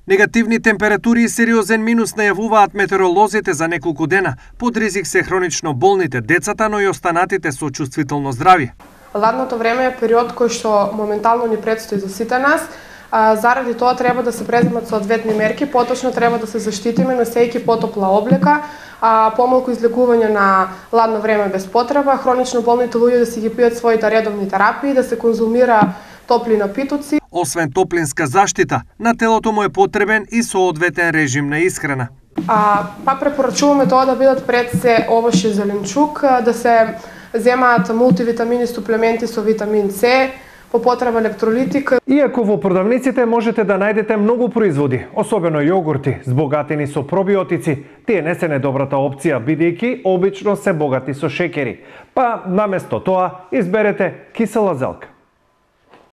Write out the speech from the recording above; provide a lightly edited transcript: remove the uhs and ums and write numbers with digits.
Негативни температури и сериозен минус најавуваат метеоролозите за неколку дена. Под ризик се хронично болните, децата, но и останатите со чувствително здравје. Ладното време е период кој што моментално ни предстои за сите нас. Заради тоа треба да се преземат соодветни мерки, поточно треба да се заштитиме носејќи потопла облека, помалку излегување на ладно време без потреба, хронично болните луѓе да си ги пијат своите редовни терапии, да се конзумира топли напитоци. Освен топлинска заштита, на телото му е потребен и соодветен режим на исхрана. Пак препорачуваме тоа да бидат пред се овош и зеленчук, да се земаат мултивитамини суплементи со витамин С, по потреба електролитик. Иако во продавниците можете да најдете многу производи, особено јогурти, збогатени со пробиотици, тие не се најдобрата опција, бидејќи обично се богати со шеќери. Па наместо тоа изберете кисела зелка.